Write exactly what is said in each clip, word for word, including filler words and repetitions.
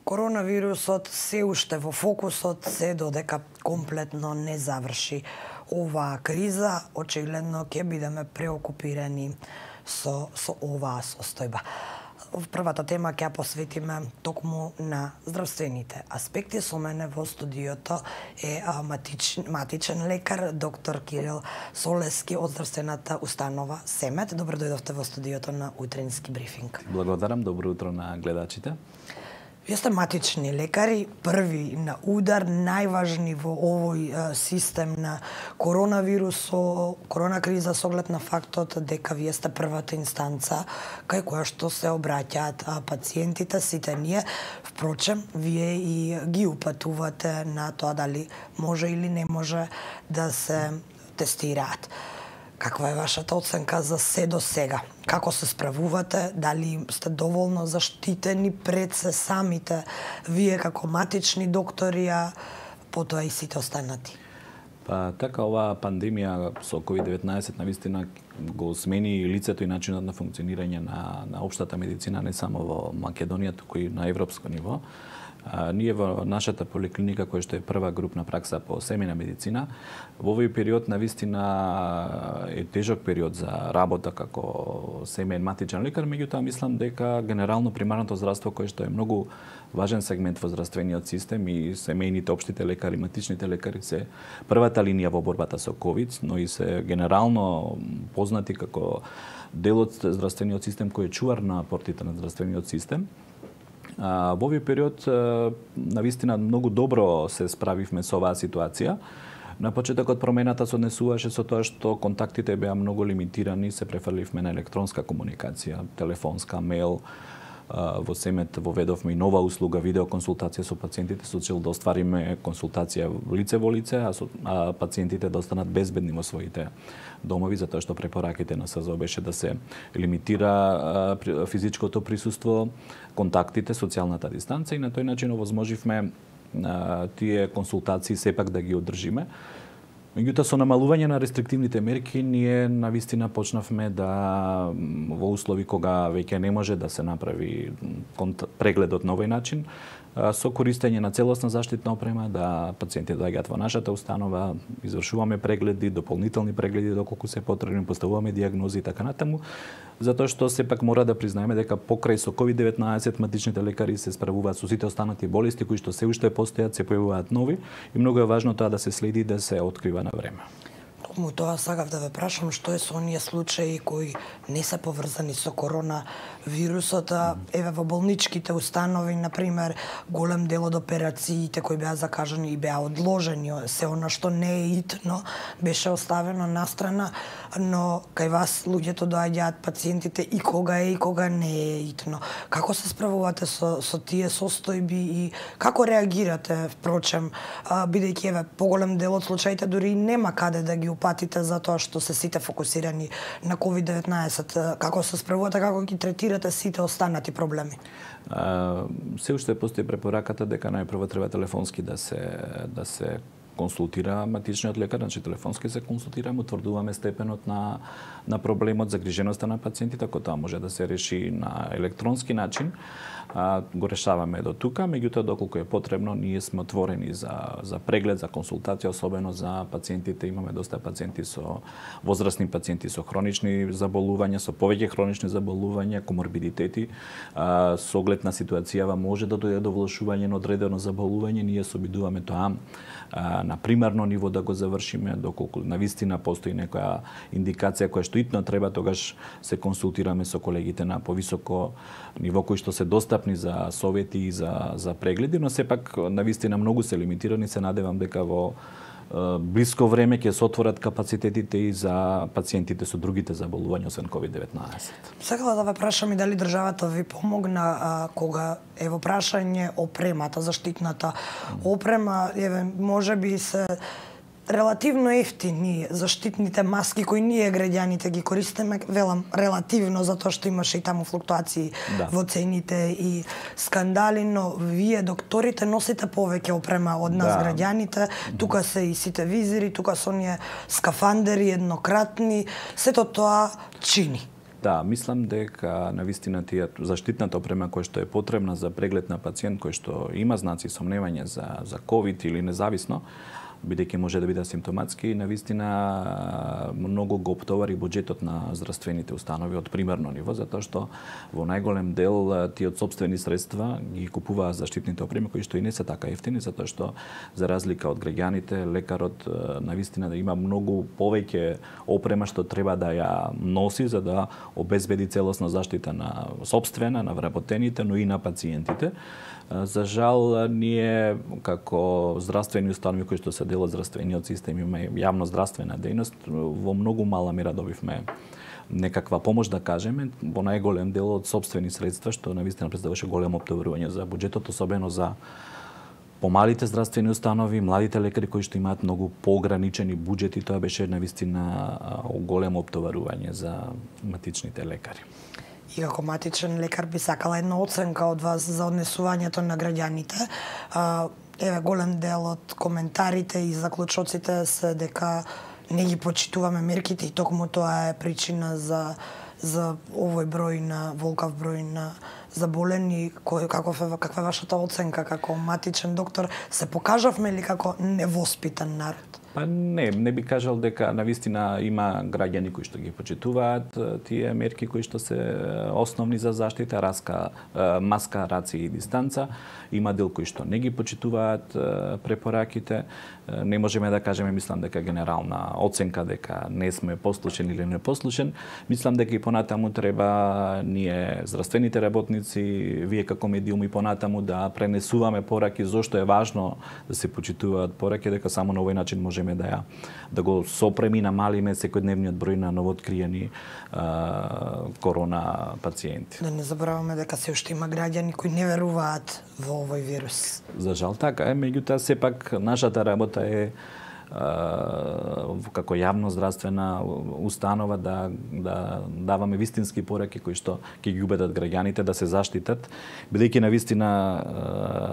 Коронавирусот се уште во фокусот, се додека комплетно не заврши оваа криза, очигледно ќе бидеме преокупирани со, со оваа состојба. Првата тема ќе ја посветиме токму на здравствените аспекти. Со мене во студиото е матич, матичен лекар, доктор Кирил Солески од здравствената установа Семет. Добро дојдовте во студиото на утрински брифинг. Благодарам, добро утро на гледачите. Вие сте матични лекари, први на удар, најважни во овој систем на коронавирус, корона криза, со оглед на фактот дека вие сте првата инстанца кај која што се обраќаат пациентите, сите ние. Впрочем, вие и ги упатувате на тоа дали може или не може да се тестираат. Каква е вашата оценка за се до сега? Како се справувате? Дали сте доволно заштитени пред се самите вие како матични доктори, а потоа и сите останати? Па така, оваа пандемија со ковид деветнаесет навистина го смени лицето и начинот на функционирање на, на општата медицина не само во Македонија, туку и на европско ниво. А, ние во нашата поликлиника, која што е прва групна пракса по семејна медицина, во овој период навистина е тежок период за работа како семејен матичен лекар, меѓутоа мислам дека генерално примарното здравство, кое што е многу важен сегмент во здравствениот систем, и семејните општите лекари, матичните лекари се првата линија во борбата со ковид, но и се генерално познати како дел од здравствениот систем кој е чувар на портите на здравствениот систем. А, во овој период навистина многу добро се справивме со оваа ситуација. На почетокот промената се однесуваше со тоа што контактите беа многу лимитирани, се префрливме на електронска комуникација, телефонска, мејл. Во Семет воведовме и нова услуга видеоконсултација со пациентите со цел да оствариме консултација лице во лице, а, со, а пациентите да останат безбедни во своите домови, затоа што препораките на СЗО беше да се лимитира а, физичкото присуство, контактите, социјалната дистанца, и на тој начин овозможивме а, тие консултации сепак да ги одржиме. Меѓутоа, со намалување на рестриктивните мерки, ние навистина почнавме да, во услови кога веќе не може да се направи прегледот на овој начин, со користење на целосна заштитна опрема, да пациентите доаѓаат во нашата установа, извршуваме прегледи, дополнителни прегледи доколку се потребни, поставуваме диагнози и така натаму, затоа што сепак мора да признаеме дека покрај со ковид деветнаесет матичните лекари се справуваат со сите останати болести кои што се уште постојат, се појавуваат нови, и многу е важно тоа да се следи и да се открива на време. Му тоа сакав да ве прашам, што е со оние случаи кои не се поврзани со коронавирусот, еве во болничките установи, например, голем дел од операциите кои беа закажани и беа одложени, се она што не е итно беше оставено настрана, но кај вас луѓето доаѓаат, пациентите, и кога е и кога не е итно. Како се справувате со, со тие состојби и како реагирате, впрочем, бидејќи еве поголем дел од случаите дури нема каде да ги упатите затоа што се сите фокусирани на ковид деветнаесет. Како се справувате, како ги третирате сите останати проблеми? А, се уште постои препораката дека најпрво треба телефонски да се да се консултира матичниот лекар, значи телефонски се консултираме, утврдуваме степенот на на проблемот, загриженоста на пациентите, ако тоа може да се реши на електронски начин, а, го решаваме до тука, меѓутоа доколку е потребно, ние сме отворени за за преглед, за консултација, особено за пациентите. Имаме доста пациенти со возрастни пациенти со хронични заболувања, со повеќе хронични заболувања, коморбидитети. А, со оглед на ситуацијава може да дојде до влошување на одредено заболување, ние се обидуваме тоа а, на примарно ниво да го завршиме, доколку навистина постои некоја индикација која што итно треба, тогаш се консултираме со колегите на повисоко ниво кои што се достапни за совети и за за прегледи, но сепак навистина многу се лимитирани. Се надевам дека во е, блиско време ќе се отворат капацитетите и за пациентите со другите заболувања освен ковид деветнаесет. Сакала да ве прашам и дали државата ви помогна а, кога е во прашање опремата, заштитната опрема, еве можеби се релативно ефтини заштитните маски кои ние граѓаните ги користиме, велам релативно затоа што имаше и таму флуктуации да. во цените и скандали, но вие докторите носите повеќе опрема од нас да. граѓаните, тука се и сите визири, тука се оние скафандери еднократни, сето тоа чини. Да, мислам дека навистина тие заштитната опрема која што е потребна за преглед на пациент кој што има знаци сомневање за за ковид или независно, бидејќи може да биде симптоматски, навистина многу го оптовари буџетот на здравствените установи од примерно ниво, затоа што во најголем дел тие од сопствени средства ги купуваат заштитните опреми кои што и не се така ефтини, затоа што за разлика од граѓаните, лекарот навистина да има многу повеќе опрема што треба да ја носи за да обезбеди целосна заштита на сопствена, на вработените, но и на пациентите. За жал, ние како здравствени установи кои што се дел од здравствениот систем имаме јавно здравствена дејност, во многу мала мера добивме некаква помош, да кажеме, во најголем дел од сопствени средства, што навистина представуваше големо оптоварување за буџетот, особено за помалите здравствени установи, младите лекари кои што имаат многу поограничени буџети, тоа беше навистина големо оптоварување за матичните лекари. И како матичен лекар би сакала една оценка од вас за однесувањето на граѓаните. Еве, голем дел од коментарите и заклучоците се дека не ги почитуваме мерките и токму тоа е причина за за овој број на волкав број на заболени. Кој каков е каква е вашата оценка како матичен доктор? Се покажавме ли како невоспитан народ? Па не, не би кажал дека навистина има граѓани кои што ги почитуваат тие мерки кои што се основни за заштита, раска, маска, раци и дистанца. Има дел кои што не ги почитуваат препораките. Не можеме да кажеме, мислам дека генерална оценка дека не сме послушен или непослушен. Мислам дека и понатаму треба ние здравствените работници, вие како медиум и понатаму да пренесуваме пораки зошто е важно да се почитуваат пораки, дека само на овој начин можеме да ја да го сопреми намалиме секојдневниот број на новооткриени корона пациенти. Да не забораваме дека се уште има граѓани кои не веруваат во овој вирус. За жал така е, меѓутоа сепак нашата работа е како јавно здравствена установа да да даваме вистински пораки кои што ќе ги убедат граѓаните да се заштитат, бидејќи навистина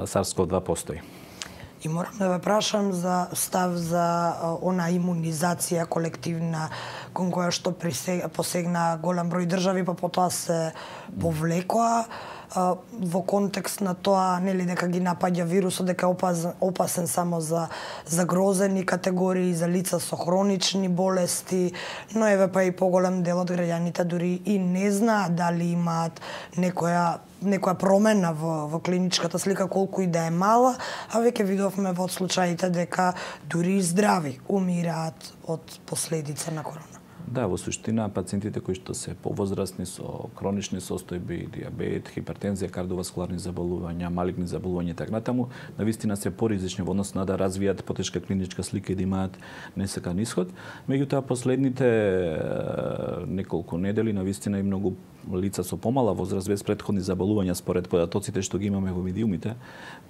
SARS-CoV два постои. И морам да ве прашам за став за она имунизација колективна кон која што посегна голем број држави, па потоа се повлекоа во контекст на тоа, нели, дека ги напаѓа вирусот, дека е опасен, опасен само за загрозени категории, за лица со хронични болести, но еве па и поголем дел од граѓаните дури и не знаат дали имаат некоја некоја промена во, во клиничката слика, колку и да е мала, а веќе видовме во случаите дека дури и здрави умираат од последица на корона. Да, во суштина пациентите кои што се повозрасни со хронични состојби, диабет, хипертензија, кардиоваскуларни заболувања, малигни заболувања и така натаму, навистина се поризични во однос на да развијат потешка клиничка слика и да имаат несакан исход. Меѓутоа последните неколку недели навистина и многу лица со помала возраст без претходни заболувања според податоците што ги имаме во медиумите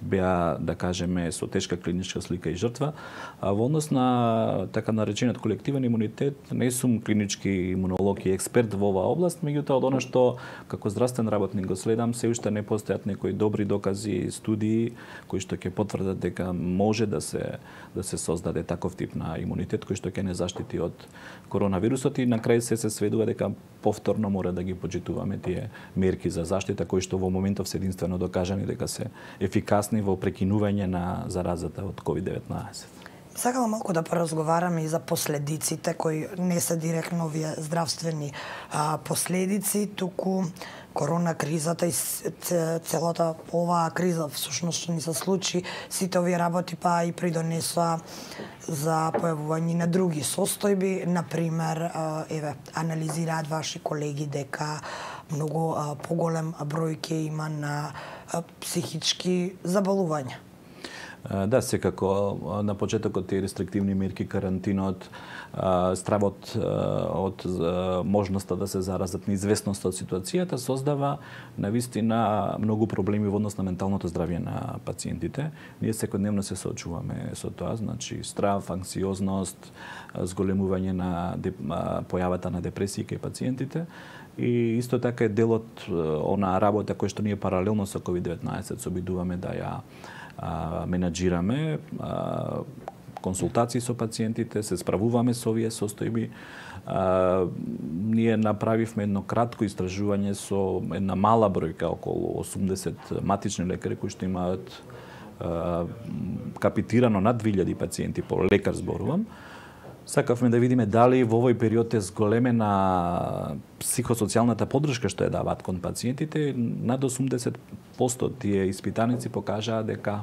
беа, да кажеме, со тешка клиничка слика и жртва, а во однос на така наречениот колективен имунитет не сум клинички имунолог и експерт во оваа област, меѓутоа од она што како здравствен работник го следам, се уште не постојат некои добри докази, студии кои што ќе потврдат дека може да се да се создаде таков тип на имунитет кој што ќе не заштити од коронавирусот и на крај се се сведува дека повторно мора да ги почитуваме тие мерки за заштита кои што во моментов се единствено докажани дека се ефикасни во прекинување на заразата од ковид деветнаесет. Сакала малку да поразговараме и за последиците кои не се директно овие здравствени а, последици, туку корона кризата и целата оваа криза всушност што ни се случи, сите овие работи па и придонесоа за појавување на други состојби, например, еве, анализираат ваши колеги дека многу а, поголем број ќе има на а, психички заболувања. Да, секако на почетокот тие рестриктивни мерки, карантинот, стравот од можноста да се заразат, неизвестноста од ситуацијата создава навистина многу проблеми во однос на менталното здравје на пациентите. Ние секојдневно се соочуваме со тоа, значи страв, анксиозност, зголемување на појавата на депресија кај пациентите. И исто така е дел од она работа која што ние паралелно со ковид деветнаесет се обидуваме да ја а, менаџираме. А, консултации со пациентите, се справуваме со овие состојби. А, ние направивме едно кратко истражување со една мала бројка, околу осумдесет матични лекари кои што имаат а, капитирано над две илјади пациенти по лекар зборувам. Сакавме да видиме дали во овој период е зголемена психосоцијалната поддршка што ја даваат кон пациентите. Над осумдесет проценти тие испитаници покажаа дека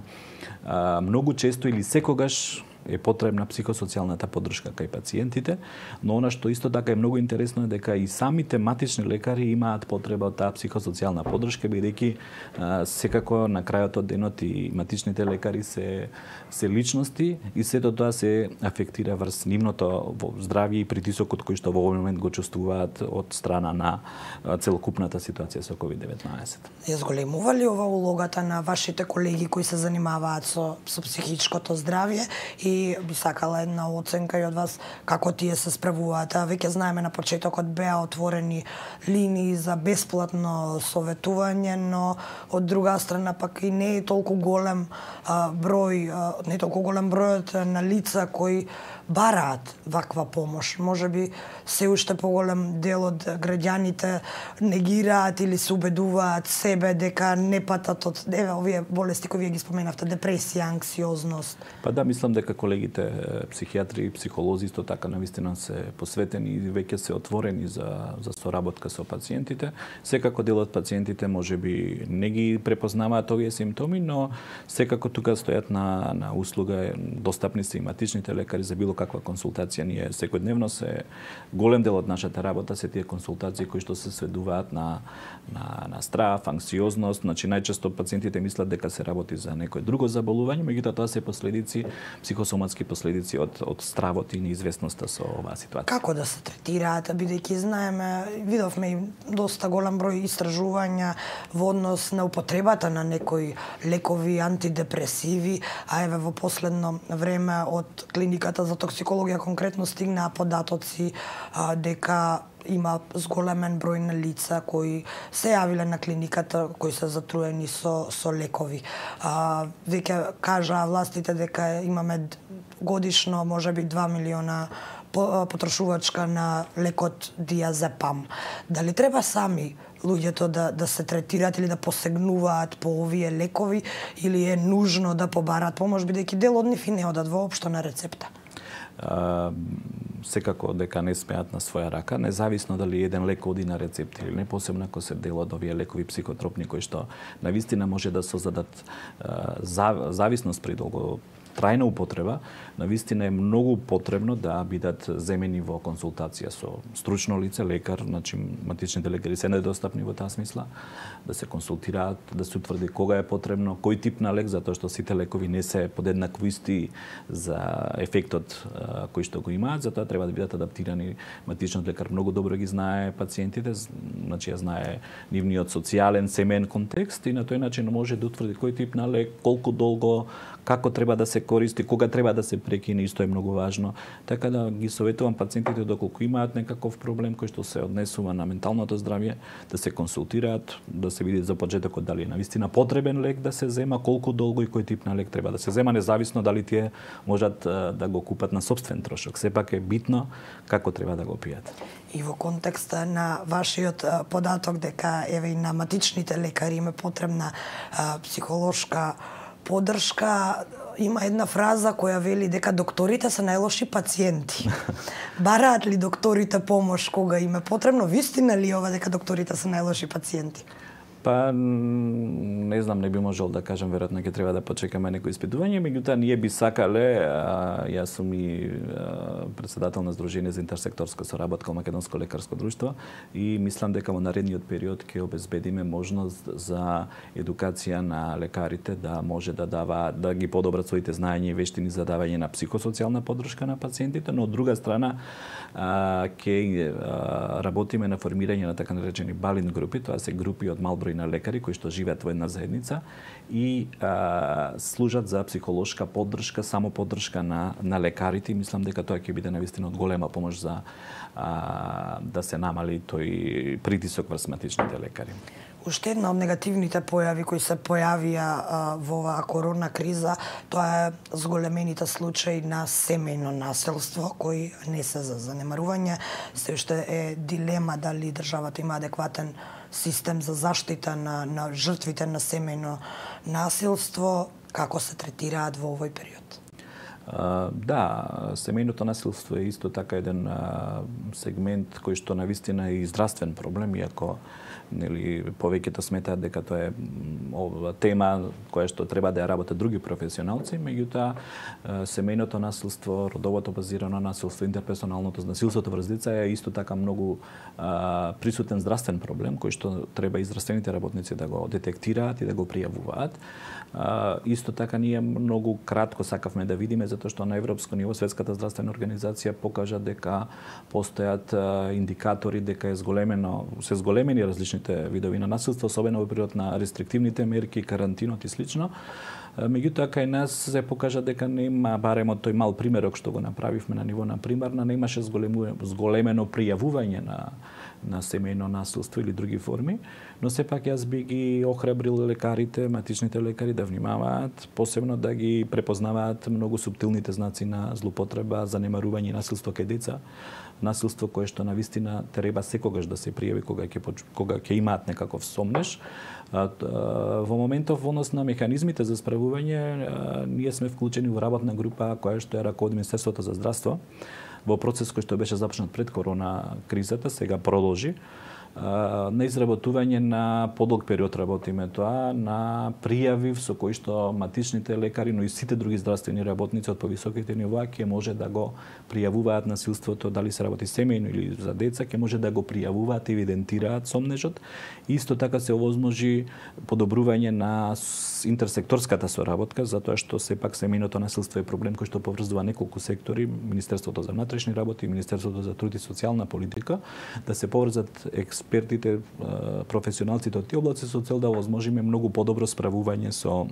а, многу често или секогаш е потребна психосоцијалната поддршка кај пациентите, но она што исто така е многу интересно е дека и самите матични лекари имаат потреба од таа психосоцијална поддршка, бидејќи секако на крајот од денот и матичните лекари се се личности и сето тоа се афектира врз нивното здравје и притисокот кој што во овој момент го чувствуваат од страна на целокупната ситуација со ковид деветнаесет. Ја зголемува ли ова улогата на вашите колеги кои се занимаваат со, со психичкото здравје и И би сакала една оценка и од вас како тие се справуваат. Веќе знаеме на почетокот беа отворени линии за бесплатно советување, но од друга страна пак и не е толку голем а, број, а, не е толку голем бројот на лица кои бараат ваква помош. Може би се уште поголем дел од граѓаните негираат или се убедуваат себе дека не патат од еве овие болести кои вие ги споменавте, депресија, анксиозност. Па да, мислам дека колегите психијатри и психолози исто така навистина се посветени и веќе се отворени за за соработка со пациентите. Секако дел од пациентите можеби не ги препознаваат овие симптоми, но секако тука стојат на на услуга, достапни се и матичните лекари за било каква консултација. Ние секојдневно се голем дел од нашата работа се тие консултации кои што се сведуваат на на на страв, анксиозност, значи најчесто пациентите мислат дека се работи за некој друго заболување, меѓутоа тоа се последици, психосоматски последици од од стравот и неизвестноста со оваа ситуација. Како да се третираат, бидејќи знаеме, видовме и доста голем број истражувања во однос на употребата на некои лекови, антидепресиви, а еве во последно време од клиниката за токсикологија конкретно стигнаа податоци а, дека има зголемен број на лица кои се јавиле на клиниката, кои се затруени со со лекови. А, веќе кажаа властите дека имаме годишно можеби два милиона потрошувачка на лекот диазепам. Дали треба сами луѓето да да се третираат или да посегнуваат по овие лекови или е нужно да побараат помош бидејќи дел од нив и не одат воопшто на рецепта? Uh, секако дека не смеат на своја рака, независно дали еден лек оди на рецепт или не, посебно ако се дел од овие лекови психотропни кои што навистина може да создадат uh, зависност при долго трајна употреба, навистина е многу потребно да бидат земени во консултација со стручно лице, лекар, значи матичните лекари се недостапни во таа смисла, да се консултираат, да се утврди кога е потребно, кој тип на лек, затоа што сите лекови не се подеднакво исти за ефектот а, кој што го имаат, затоа треба да бидат адаптирани. Матичниот лекар многу добро ги знае пациентите, значи ја знае нивниот социјален, семеен контекст и на тој начин може да утврди кој тип на лек, колку долго, како треба да се користи, кога треба да се прекине, исто е многу важно. Така да ги советувам пациентите доколку имаат некаков проблем кој што се однесува на менталното здравје, да се консултираат, да се види за почетокот дали е навистина потребен лек да се зема, колку долго и кој тип на лек треба да се зема, независно дали тие можат да го купат на сопствен трошок. Сепак е битно како треба да го пијат. И во контекста на вашиот податок дека еве и на матичните лекари им е потребна а, психолошка поддршка, има една фраза која вели дека докторите се најлоши пациенти. Бараат ли докторите помош кога им е потребно? Вистина ли ова дека докторите се најлоши пациенти? Па не знам, не би можел да кажам, веројатно ќе треба да почекаме некои испитување, меѓутоа ние би сакале, а, јас сум и а, председател на Сдружение за интерсекторска соработка Македонско лекарско друштво и мислам дека во наредниот период ќе обезбедиме можност за едукација на лекарите да може да дава да ги подобрат своите знаења и вештини за давање на психосоцијална поддршка на пациентите, но од друга страна а, ќе а, работиме на формирање на така наречени балин групи, тоа се групи од мал број на лекари кои што живеат во една заедница и а, служат за психолошка поддршка, само поддршка на на лекарите. Мислам дека тоа ќе биде навистина од голема помош за а, да се намали тој притисок врз матичните лекари. Уште една од негативните појави кои се појавија а, во оваа корона криза, тоа е зголемените случаи на семејно насилство кои не се за занемарување. Се уште е дилема дали државата има адекватен систем за заштита на, на жртвите на семејно насилство, како се третираат во овој период. Uh, да, семејното насилство е исто така еден uh, сегмент кој што навистина е и здравствен проблем, иако нели повеќето сметаат дека тоа е ова тема која што треба да ја работат други професионалци, меѓутоа семејното насилство, родовото базирано насилство, интерперсоналното насилството врз деца е исто така многу а, присутен здравствен проблем кој што треба и здравствените работници да го детектираат и да го пријавуваат. А, исто така ние многу кратко сакавме да видиме затоа што на европско ниво Светската здравствена организација покажа дека постојат а, индикатори дека е зголемено, се зголемени различни видови на насилство, особено во период на рестриктивните мерки, карантинот и слично. Меѓутоа, кај нас се покажа дека нема, барем од тој мал примерок што го направивме на ниво на примарна, немаше зголемено пријавување на на семејно насилство или други форми, но сепак јас би ги охрабрил лекарите, матичните лекари да внимаваат, посебно да ги препознаваат многу суптилните знаци на злоупотреба, занемарување и насилство кај деца, насилство кое што навистина треба секогаш да се пријави кога ќе кога ќе имаат некаков сомнеш. Во моментов во однос на механизмите за справување, ние сме вклучени во работна група која што е раководи Министерството за здравство во процес кој што беше започнат пред корона кризата, сега продолжи, на изработување на подолг период работиме тоа, на пријави со кои што матичните лекари, но и сите други здравствени работници од повисоките нива ќе може да го пријавуваат насилството, дали се работи семејно или за деца, ќе може да го пријавуваат, евидентираат сомнежот. Исто така се овозможи подобрување на интерсекторската соработка, затоа што сепак семејното насилство е проблем кој што поврзува неколку сектори, Министерството за внатрешни работи и Министерството за труд и социјална политика, да се поврзат експертите, професионалците од тие области со цел да овозможиме многу подобро справување со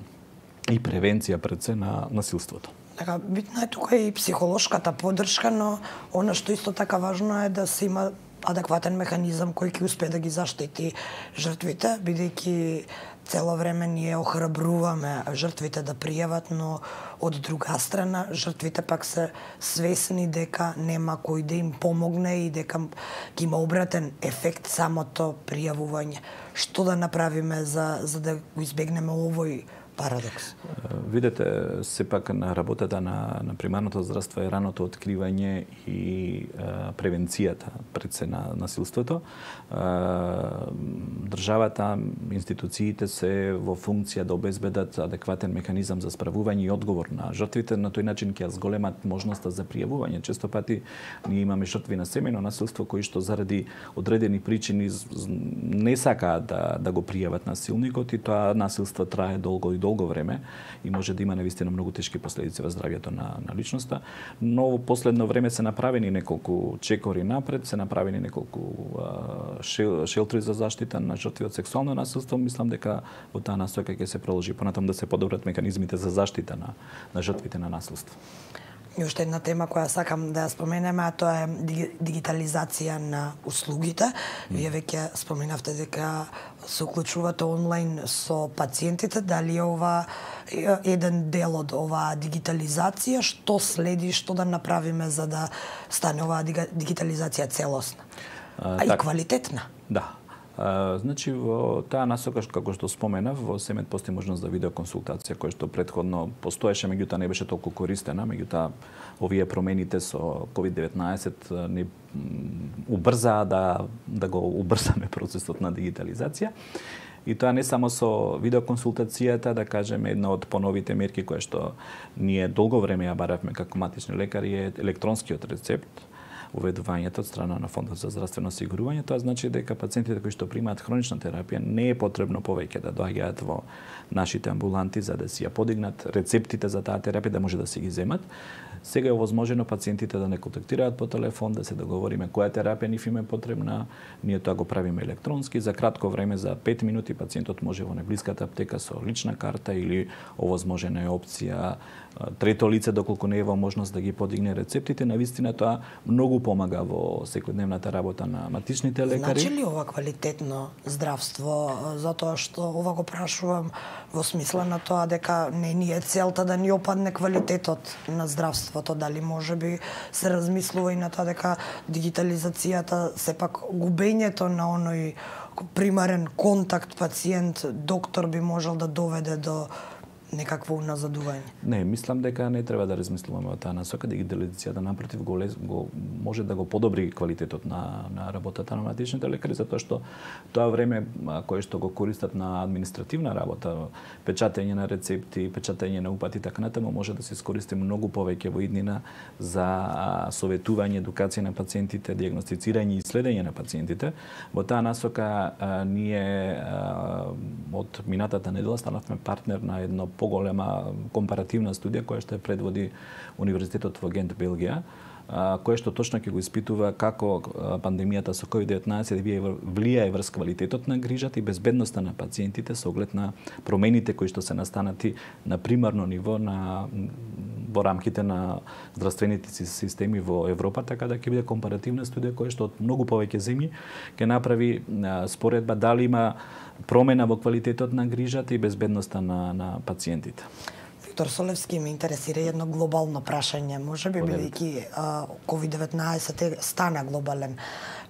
и превенција пред се на насилството. Така, битна е тука и психолошката поддршка, но она што исто така важно е да се има адекватен механизам кој ќе успее да ги заштити жртвите, бидејќи цело време ние охрабруваме жртвите да пријават, но од друга страна жртвите пак се свесни дека нема кој да им помогне и дека ќе има обратен ефект самото пријавување. Што да направиме за за да го избегнеме овој парадокс? Видете, сепак на работата на, на примарното здравство е раното откривање и а, превенцијата пред се на насилството. А, државата, институциите се во функција да обезбедат адекватен механизам за справување и одговор на жртвите, на тој начин ќе зголемат можноста за пријавување. Често пати ние имаме жртви на семејно насилство кои што заради одредени причини не сакаат да, да го пријават насилникот и тоа насилство трае долго и долго долго време и може да има навистина многу тешки последици во здравјето на, на личноста, но во последно време се направени неколку чекори напред, се направени неколку а, шел, шелтри за заштита на жртви од сексуално насилство. Мислам дека во таа насока ќе се продолжи понатаму да се подобрат механизмите за заштита на, на жртвите на насилство. И уште една тема која сакам да ја споменеме, а тоа е дигитализација на услугите. Вие веќе споменавте дека се уклучувате онлайн со пациентите, дали е ова еден дел од оваа дигитализација, што следи, што да направиме за да стане оваа дигитализација целосна, а, а так, и квалитетна? Да. Uh, значи, во таа насока, како што споменав, во СЕМЕД постои можност за видеоконсултација, која што предходно постоеше, меѓутоа не беше толку користена, меѓутоа овие промените со ковид деветнаесет не убрзаа да, да го убрзаме процесот на дигитализација. И тоа не само со видеоконсултацијата, да кажеме, една од поновите мерки која што ние долго време ја баравме како матични лекари е електронскиот рецепт, уведувањето од страна на Фондот за здравствено осигурување. Тоа значи дека пациентите кои што примаат хронична терапија не е потребно повеќе да доаѓаат во нашите амбуланти за да си ја подигнат рецептите за таа терапија, да може да си ги земат. Сега е овозможено пациентите да не контактираат по телефон, да се договориме која терапија нив им е потребна. Ние тоа го правиме електронски. За кратко време, за пет минути, пациентот може во најблиската аптека со лична карта или овозможена е опција трето лице, доколку не е во можност да ги подигне рецептите. Навистина тоа многу многу помага во секојдневната работа на матичните лекари. Значи ли ова квалитетно здравство? Затоа што ова го прашувам во смисла на тоа дека не ни е целта да ни опадне квалитетот на здравството, дали можеби се размислува и на тоа дека дигитализацијата, сепак губењето на оној примарен контакт пациент-доктор би можел да доведе до некакво уназадување? Не, мислам дека не треба да размислуваме во таа насока. Дигитализацијата напротив го, го може да го подобри квалитетот на на работата на матичните лекари, затоа што тоа време кое што го користат на административна работа, печатење на рецепти, печатење на упати, така натаму може да се искористи многу повеќе во иднина за советување, едукација на пациентите, дијагностицирање и следење на пациентите. Во таа насока а, ние а, од минатата недела станавме партнер на едно поголема компаративна студија која што ја предводи Универзитетот во Гент, Белгија, која што точно ќе го испитува како пандемијата со ковид деветнаесет влијае врз квалитетот на грижата и безбедноста на пациентите со оглед на промените кои што се настанати на примарно ниво на во рамките на здравствените системи во Европа, така да ќе биде компаративна студија која што од многу повеќе земји ќе направи споредба дали има промена во квалитетот на грижата и безбедноста на на пациентите. Виктор Солевски, ме интересира едно глобално прашање. Може би бидејќи ковид деветнаесет стана глобален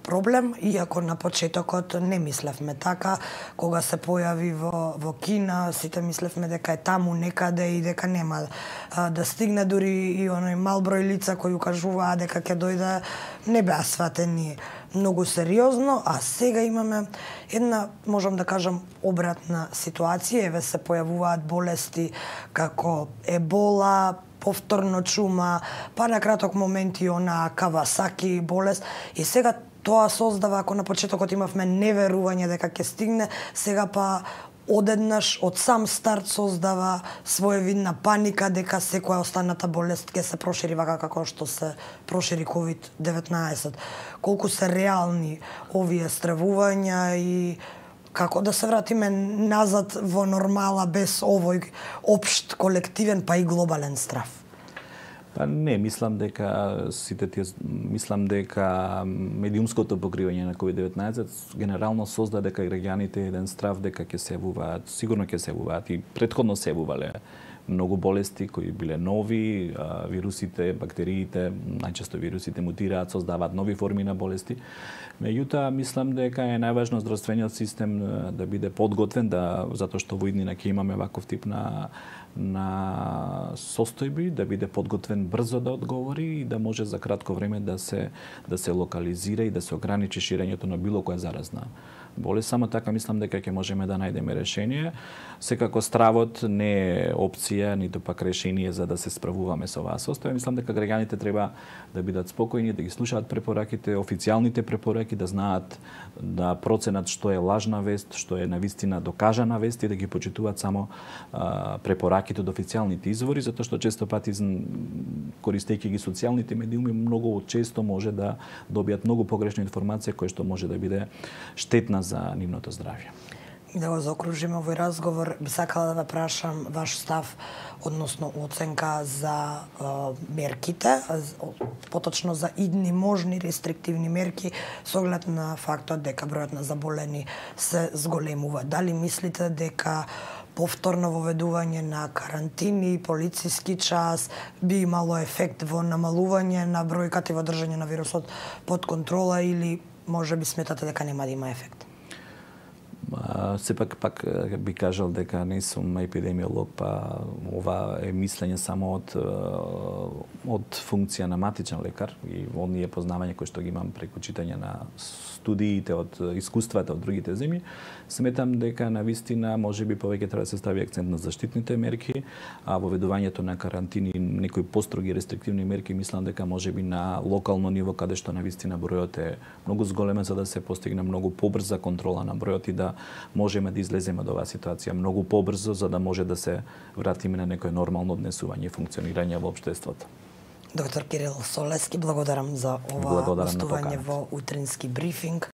проблем, иако на почетокот не мислевме така, кога се појави во, во Кина, сите мислевме дека е таму некаде и дека нема а, да стигне, дури и оној мал број лица кои укажуваа дека ќе дојде, не беа сватени многу сериозно, а сега имаме една, можам да кажам, обратна ситуација. Еве се појавуваат болести како ебола, повторно чума, па на краток момент и она Кавасаки болест. И сега тоа создава, ако на почетокот имавме неверување дека ќе стигне, сега па одеднаш од сам старт создава своевидна паника дека секоја останата болест ќе се прошири вака како што се прошири ковид деветнаесет. Колку се реални овие стравувања и како да се вратиме назад во нормала без овој општ колективен па и глобален страв? Па не, мислам дека сите тие мислам дека медиумското покривање на ковид деветнаесет генерално создаде дека граѓаните еден страв дека ќе се јавуваат, сигурно ќе се јавуваат и претходно се јавувале многу болести кои биле нови, вирусите, бактериите, најчесто вирусите мутираат, создаваат нови форми на болести. Меѓутоа, мислам дека е најважно здравствениот систем да биде подготвен, да, затоа што во иднина ќе имаме ваков тип на на состојби, да биде подготвен брзо да одговори и да може за кратко време да се да се локализира и да се ограничи ширењето на било која заразна болест. Само така мислам дека ќе можеме да најдеме решение. Секако стравот не е опција, ниту пак решение за да се справуваме со оваа состојба. Мислам дека граѓаните треба да бидат спокојни, да ги слушаат препораките, официјалните препораки, да знаат да проценат што е лажна вест, што е навистина докажана вест и да ги почитуваат само а, препораките од официјалните извори, затоа што често пати користејќи ги социјалните медиуми многу често може да добијат многу погрешна информација која што може да биде штетна за нивното здравје. И да го заокружиме овој разговор, би сакала да ве прашам ваш став, односно оценка за е, мерките, поточно за идни можни рестриктивни мерки, со оглед на фактот дека бројот на заболени се зголемува. Дали мислите дека повторно воведување на карантини, полициски час би имало ефект во намалување на бројката и во држање на вирусот под контрола, или може би сметате дека нема да има ефект? Сепак пак би кажал дека не сум епидемиолог, па ова е мислење само од од функција на матичен лекар и оние познавања кои што ги имам преку читање на студиите од искуствата од другите земји. Сметам дека на вистина можеби повеќе треба да се стави акцент на заштитните мерки, а воведувањето на карантини и некои построги рестриктивни мерки мислам дека можеби на локално ниво каде што на вистина бројот е многу зголемен за да се постигне многу побрза контрола на бројот и да можеме да излеземе од оваа ситуација многу побрзо за да може да се вратиме на некое нормално однесување и функционирање во општеството. Доктор Кирил Солевски, благодарам за ова гостување во утрински брифинг.